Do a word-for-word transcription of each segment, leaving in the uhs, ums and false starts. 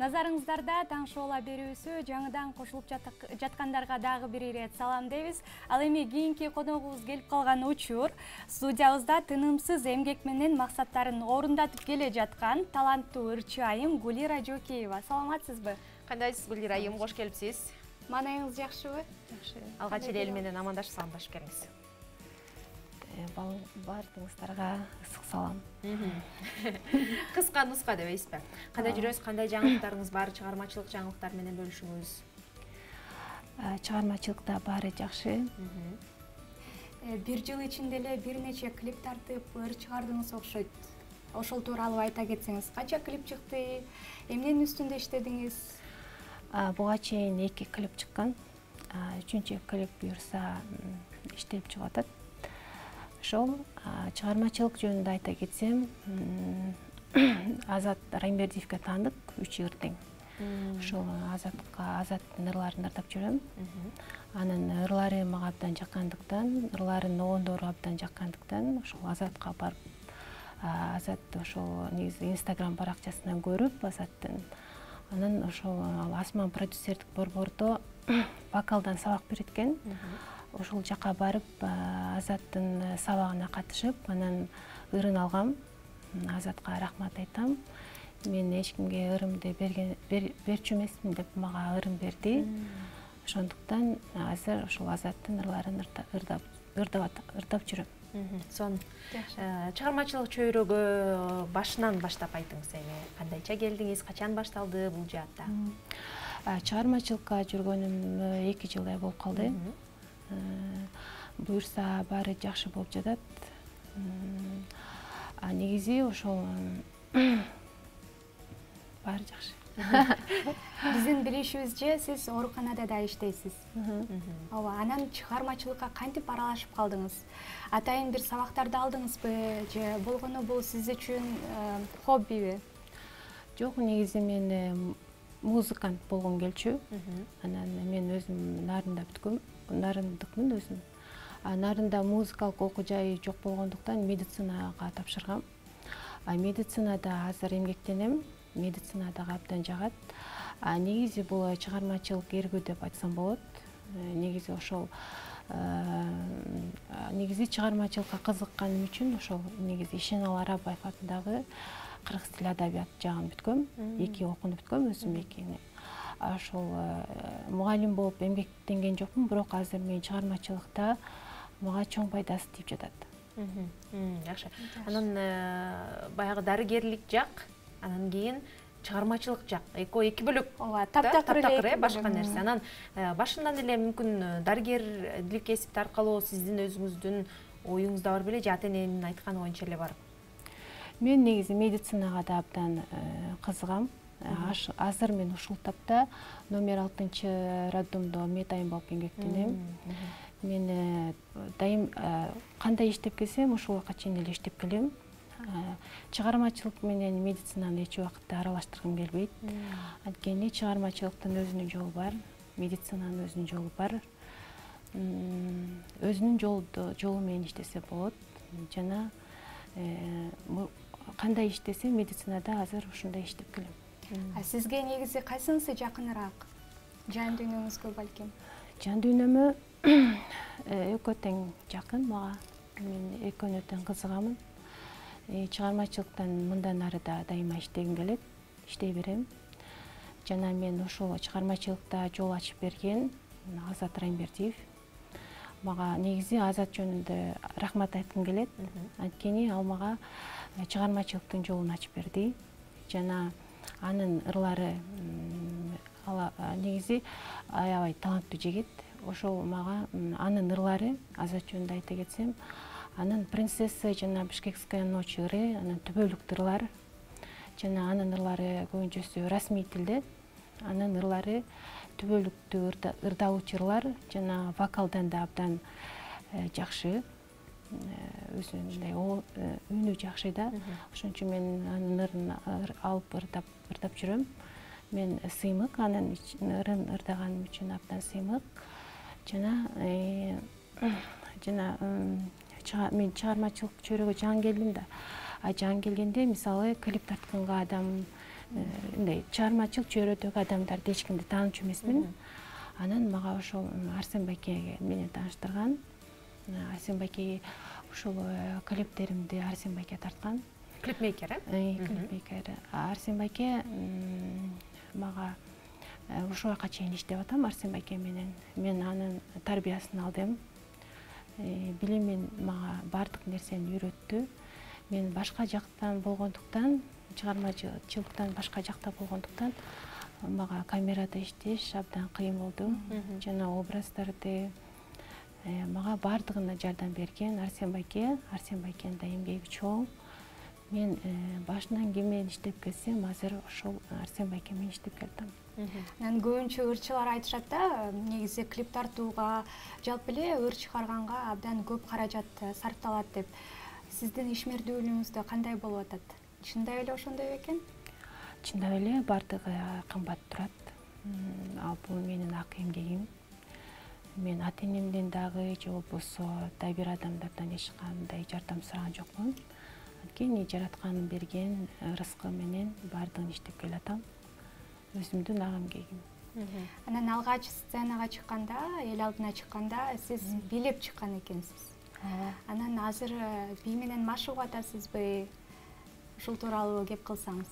Назарыңыздарда таң шоула берүүсү жаңыдан кошулуп жаткандарга дагы бир ирет салам дейбиз. Ал эми кийинки коногубуз келип калган учур студиябызда тынымсыз эмгек менен максаттарын орундатып келе жаткан таланттуу ырчы айым Гулира Жокеева. Саламатсызбы? Кандайсыз Гулира айым, кош келипсиз. Маанайыңыз жакшыбы? Жакшы. Алгач эле эл менен амандашып саламдашып келиңиз. Баардыгыңыздарга ысык салам. Кыска нуска дебейсизби? Кандай жүрөсүз, кандай жаңылыктарыңыз бар, чыгармачылык жаңылыктар менен бөлүшүңүз. Чыгармачылыкта баары жакшы. Бир жыл ичинде эле бир нече клип тартып, ыр чыгардыңыз окшойт. Ошол тууралуу айта кетсеңиз, канча клип чыкты, эмненин үстүндө иштедиңиз? Буга чейин эки клип чыккан. Үчүнчү клип буюрса иштелип чыгып атат. Ошол чыгармачылык жөнүндө айта кетсем, Азат Райымбердиевге таандык үч ыр тең. Ошол Азатка Азаттын ырларын ырдап жүрөм. Анын ырлары мага абдан жаккандыктан, ырларын огондору абдан жаккандыктан, ошол Азатка барып, Азат ошол негизи Инстаграм баракчасынан көрүп, Азаттын анан ошол Асман продюсердик борбордо вокалдан сабак берет экен. Ошол жака барып, Азаттын сабагына катышып, анан ырын алгам. Азатка рахмат айтам. Мен эч кимге ырымды берчү эмесмин деп мага ырым берди. Ошондуктан азыр ошол Азаттын ырларын ырдап жүрөм. Сон чыгармачылык чөйрөгө башынан баштап айтыңыз эми. Кандайча келдиңиз, качан башталды бул жаатта? Чыгармачылыкка жүргөнүм эки жылдай болуп калды. Буюрса баары жакшы болуп жатат. А негизи ошол баары жакшы. Биздин билишибизче, сиз ооруканада да иштейсиз. Ооба, анан чыгармачылыкка кантип аралашып калдыңыз? Атайын бир сабактарды алдыңызбы же болгону бул сиз үчүн хоббиби? Жок, негизи мен музыкант болгум келчү. Анан мен өзүм Нарында бүткөм. Нарындыкмын өзүм. Нарында музыкалык окуу жай жок болгондуктан медицинага тапшыргам. А медицинада азыр эмгектенем. Медицина дагы абдан жагат. А негизи бул чыгармачылык эргүү деп айтсам болот. Негизи ошол негизи чыгармачылыкка кызыкканым үчүн ошол негизи Ишеналы Арабаев атындагы кыргыз тили адабият жагын бүткөм. Эки окууну бүткөм өзүм экини. Ошол мугалим болуп эмгектенген жокмун, бирок азыр мен чыгармачылыкта мага чоң пайдасы тийип жатат. Жакшы. Анан баягы дарыгерлик жак, анан кийин чыгармачылык жак. Экөө эки бөлөк. Ооба, таптакыр эле башка нерсе. Анан башынан эле мүмкүн дарыгерлик кесипти аркылуу сиздин өзүңүздүн оюңузда бар беле же ата-эненин айтканы боюнча эле барып? Мен негизи медицинага да абдан кызыгам. Азыр мен ушул тапта номер алтынчы роддомдо медайым болуп эмгектенем. Мен дайым кандай иштеп келсем, ушул убакка чейин эле иштеп келем. Чыгармачылык менен медицинаны эч убакытта аралаштыргым келбейт. Анткени чыгармачылыктын өзүнүн жолу бар, медицинанын өзүнүн жолу бар. Өзүнүн жолу менен иштесе болот. Жана кандай иштесе медицинада азыр ушундай иштеп келем. А сизге негизи кайсынысы жакыныраак? Жан дүйнөңүзгө балким? Жан дүйнөмө экөө тең жакын мага. Мен экөөнү тең кызыгамын. Чыгармачылыктан мындан ары да дайыма иштегим келет, иштей берем. Жана мен ошол чыгармачылыкта жол ачып берген Азат Райымбердиев. Мага негизи Азат жөнүндө рахмат айткым келет. Анткени ал мага чыгармачылыктын жолун ачып берди. Жана анын ырлары негизи аябай таланттуу жигит. Ошол мага анын ырлары, Азат жөнүндө айта кетсем, анын принцесса жана Бишкекская ночь ыры, анын түбөлүк ырлар жана анын ырлары көбүнчөсү расмий тилде. Анын ырлары түбөлүктүү ырдалуучу ырлар жана вокалдан да абдан жакшы. Өзүнүндөй үнү жакшы да. Ошон үчүн мен анын ырын алып ырдап жүрөм. Мен сыймык, анын ырын ырдаганым үчүн абдан сыймык. Жана жана мен чыгармачылык чөйрөгө жаңы келдим да. А жаңы келгенде мисалы клип тартканга адам мындай чыгармачылык чөйрөдөгү адамдарды эч кимди таанычу эмесмин. Анан мага ошол Арсен байке менен тааныштырган. Арсен байке ушул клиптеримди Арсен байке тарткан. Клипмейкер, э? Клипмейкер. Арсен байке мага ушул убакка чейин иштеп атам Арсен байке менен. Мен анын тарбиясын алдым. Билимин мага бардык нерсени үйрөттү. Мен башка жактан болгондуктан, чыгармачылыктан башка жакта болгондуктан мага камерада иштеш абдан кыйын болду. Жана образдарды мага бардыгына жардам берген Арсен байке. Арсен байкенин да эмгеги чоң. Мен башынан ким менен иштеп келсем, азыр ошол Арсен байке менен иштеп келатам. Анан көбүнчө ырчылар айтышат да, негизи клип тартууга, жалпы эле ыр чыгарганга абдан көп каражат сарпталат деп. Сиздин ишмердүүлүгүңүздө кандай болуп атат? Чындап эле ошондой бекен? Чындап эле бардыгы кымбат турат. Ал бул менин ак эмгегим. Мен ата-энемден дагы же болбосо да бир адамдардан эч кандай жардам сураган жокмун. Анткени жаратканын берген рызкы менен бардыгын иштеп келатам. Өзүмдүн ак эмгегим. Анан алгач сценага чыкканда, эл алдына чыкканда сиз бийлеп чыккан экенсиз. Анан азыр бий менен машыгып атасызбы? Ушул тууралуу кеп кылсаңыз.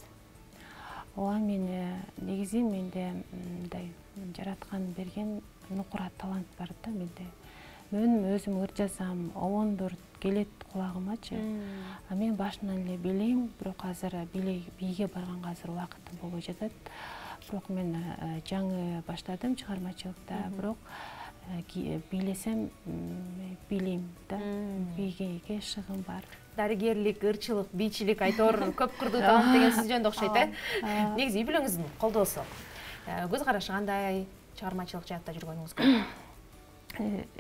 Ооба, мен негизи менде мындай жараткан берген нукура талант бар да менде. Мен өзүм ыр жазам, обондор келет кулагымачы. А мен башынан эле билейм, бирок азыр бийге барганга азыр убакытым болбой жатат. Бирок мен жаңы баштадым чыгармачылыкта, бирок бийлесем билейм да. Бийге шыгым бар. Дарыгерлик, ырчылык, бийчилик айтор көп кырдуу талант деген сиз жөнүндө окшойт, э? Негизи үй бүлөңүздүн колдоосу. Көз карашы кандай, чыгармачылык жаатта жүргөнүңүзгө?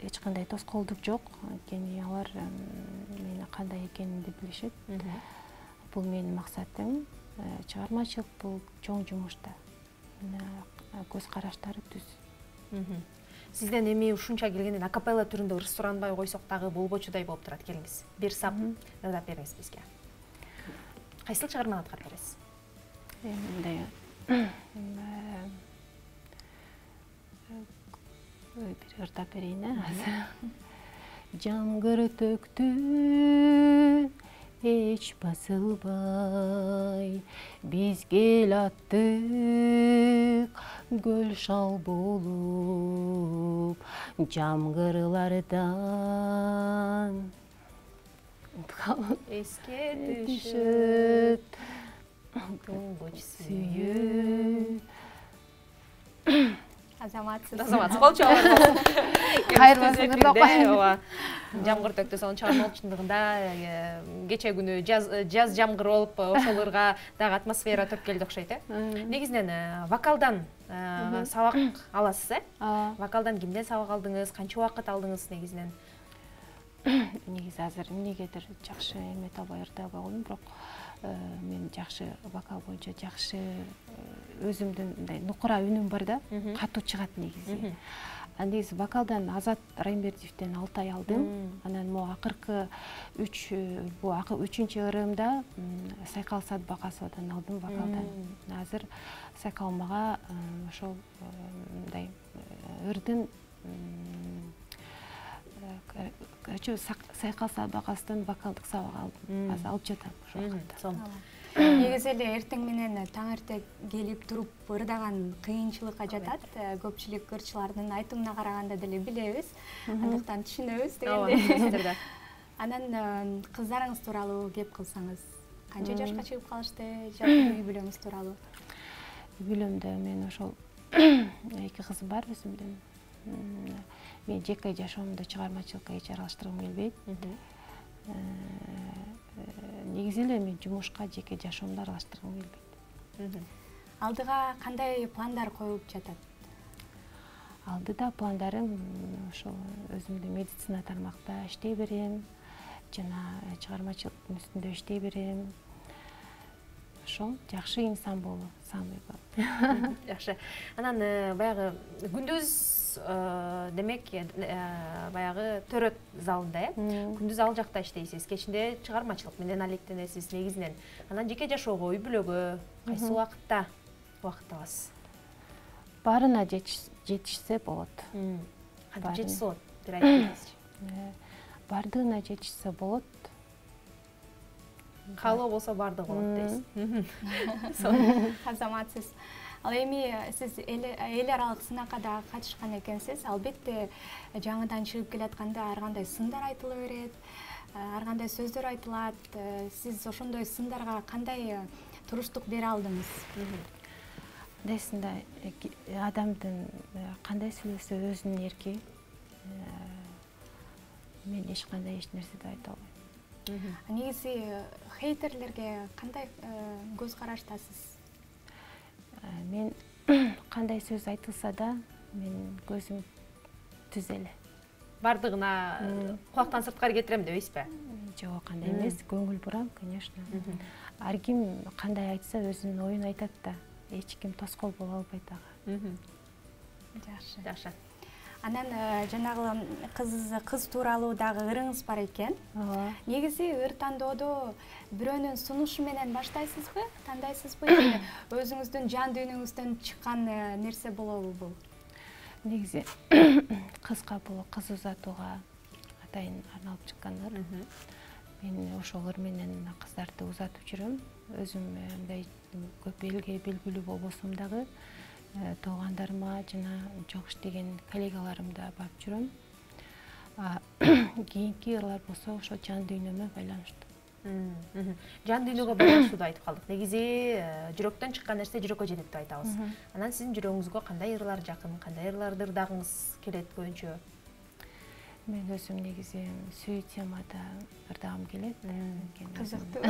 Эч кандай тоскоолдук жок. Анткени алар мени кандай экенимди билишет. Бул менин максатым. Чыгармачылык бул чоң жумуш да. Көз караштары түз. Сизден эми ушунча келгенден акапелла түрүндө ырс суранбай койсок дагы болбочудай болуп турат. Келиңиз. Бир сап ырдап бериңиз бизге. Кайсыл чыгарманы аткарып бересиз? Мындай бир ырдап берейин, азыр. Жамгыр төктү, эч басылбай, биз кел аттык, көл шал болуп, жамгырлардан эске түшөт туңгуч сүйүү. Азаматсыз. Азаматсыз. Кол чабыңыз. Кайрылсын, ырдап коеюн. Ооба. Жамгыр төктү, сонун чыгармалык чындыгында кече күнү жаз жамгыр болуп, ошол ырга дагы атмосфера төп келди окшойт, э? Негизинен вокалдан сабак аласыз, э? Вокалдан кимден сабак алдыңыз, канча убакыт алдыңыз негизинен? Негизи азыр эмнегедир жакшы эме табай ырдабай койдум, бирок мен жакшы вокал боюнча жакшы өзүмдүн мындай нукура үнүм бар да, катуу чыгат негизи. А негизи вокалдан Азат Райымбердиевден алты ай алдым. Анан могу акыркы үч бул үчүнчү ырымда Сайкал Садбакасовдон алдым вокалдан. Азыр Сайкал мага ошол мындай ырдын короче Сайкал Садбакасовдон вокалдык сабак алдым. Азыр алып жатам ошол убакытта. Негизи эле эртең менен таң эрте келип туруп ырдаган кыйынчылыкка жатат. Көпчүлүк ырчылардын айтымына караганда деле билебиз. Андыктан түшүнөбүз дегенде. Анан кыздарыңыз тууралуу кеп кылсаңыз, канча жашка чыгып калышты, жалпы үй бүлөңүз тууралуу? Үй бүлөмдө мен ошол эки кызым бар өзүмдүн. Мен жеке жашоомдо чыгармачылыкка эч аралаштыргым келбейт. Негизи эле мен жумушка жеке жашоомду аралаштыргым келбейт. Алдыга кандай пландар коюлуп жатат? Алдыда пландарым ошол өзүмдү медицина тармакта иштей берем, жана чыгармачылыктын үстүндө иштей берем. Ошол жакшы инсан болуу самый главный. Жакшы. Анан баягы күндүз өзүңүз демек баягы төрөт залында э күндүз ал жакта иштейсиз, кечинде чыгармачылык менен алектенесиз негизинен. Анан жеке жашоого, үй бүлөгө кайсы убакытта убакыт табасыз? Барына жетишсе болот. Кантип жетишсе болот? Бир айтып бериңизчи. Бардыгына жетишсе болот. Каалоо болсо бардыгы болот дейсиз. Азаматсыз. Ал эми сиз эл аралык сынакка да катышкан экенсиз. Албетте жаңыдан чыгып келатканда ар кандай сындар айтыла берет, ар кандай сөздөр айтылат. Сиз ошондой сындарга кандай туруштук бере алдыңыз? Десинде адамдын кандай сүйлөсө өзүнүн эрки. Мен эч кандай эч нерсе да айта албайм. Негизи хейтерлерге кандай көз караштасыз? Мен кандай сөз айтылса да, мен көзүм түз эле. Бардыгына кулактан сырткары кетирем дебейсизби? Жок, кандай эмес, көңүл бурам, конечно. Ар ким кандай айтса өзүнүн оюн айтат да, эч ким тоскоол боло албайт ага. Жакшы. Жакшы. Анан жанагы кыз кыз тууралуу дагы ырыңыз бар экен. Негизи ыр тандоодо бирөөнүн сунушу менен баштайсызбы, тандайсызбы, же өзүңүздүн жан дүйнөңүздөн чыккан нерсе болобу бул? Негизи кызга бул кыз узатууга атайын арналып чыккан ыр. Мен ошол ыр менен кыздарды узатып жүрөм. Өзүм мындай көп элге белгилүү болбосом дагы туугандарыма жана жок иштеген коллегаларымда барып жүрөм. Кийинки ырлар болсо ошо жан дүйнөмө байланыштуу. Жан дүйнөгө байланыштуу айтып калдык. Негизи жүрөктөн чыккан нерсе жүрөккө жетет деп айтабыз. Анан сиздин жүрөгүңүзгө кандай ырлар жакын, кандай ырларды ырдагыңыз келет көбүнчө? Мен өзүм негизи сүй темада ырдагым келет. Кызыктуу.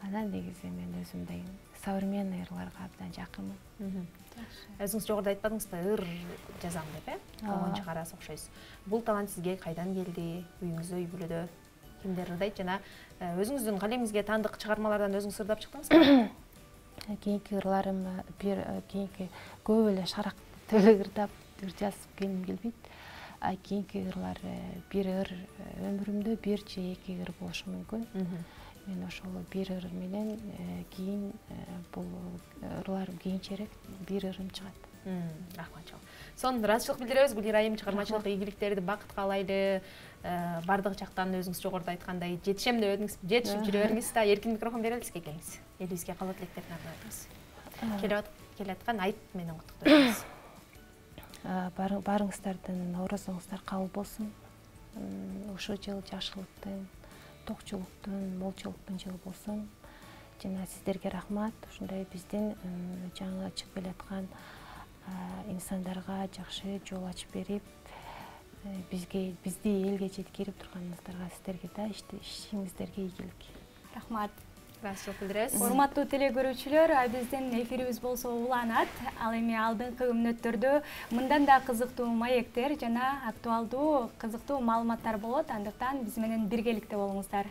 Анан негизи мен өзүмдөй современный ырларга абдан жакынмын. Өзүңүз жогоруда айтпадыңызбы, ыр жазам деп, э? Болгон чыгарасы окшойсуз. Бул талант сизге кайдан келди? Үйүңүздө, үй бүлөдө кимдер ырдайт жана өзүңүздүн калемиңизге таандык чыгармалардан өзүңүз ырдап чыктыңызбы? Кийинки ырларым бир кийинки көп эле шарак ырдап ыр жазып келгим келбейт. А кийинки ырлар бир ыр өмүрүмдө бир же эки ыр болушу мүмкүн. Мен ошол бир ыр менен кийин бул ырларым кийинчерээк бир ырым чыгат. Рахмат чоң. Сонун ыраазычылык билдиребиз. Гүлира айым, чыгармачылык ийгиликтерди, бакыт каалайлы. Бардык жактан өзүңүз жогоруда айткандай жетишем деп өдүңүз, жетишип жүрө бериңиз да, эркин микрофон берели сизге, келиңиз. Элибизге каалоо тилектерин арнайбыз. Келаткан айт менен куттуктайбыз. Барыңыздардын орозоңуздар кабыл болсун. Ушул жыл жакшылыктын, токчулуктун, молчулуктун жылы болсун. Жана сиздерге рахмат. Ушундай биздин жаңы чыгып келаткан инсандарга жакшы жол ачып берип, бизге бизди элге жеткирип турганыңыздарга сиздерге да ишиңиздерге ийгилик. Рахмат. Ыраазычылык билдиребиз. Урматтуу телекөрүүчүлөр, биздин эфирибиз болсо уланат. Ал эми алдыңкы мүнөттөрдө мындан да кызыктуу маектер жана актуалдуу кызыктуу маалыматтар болот. Андыктан биз менен биргеликте болуңуздар.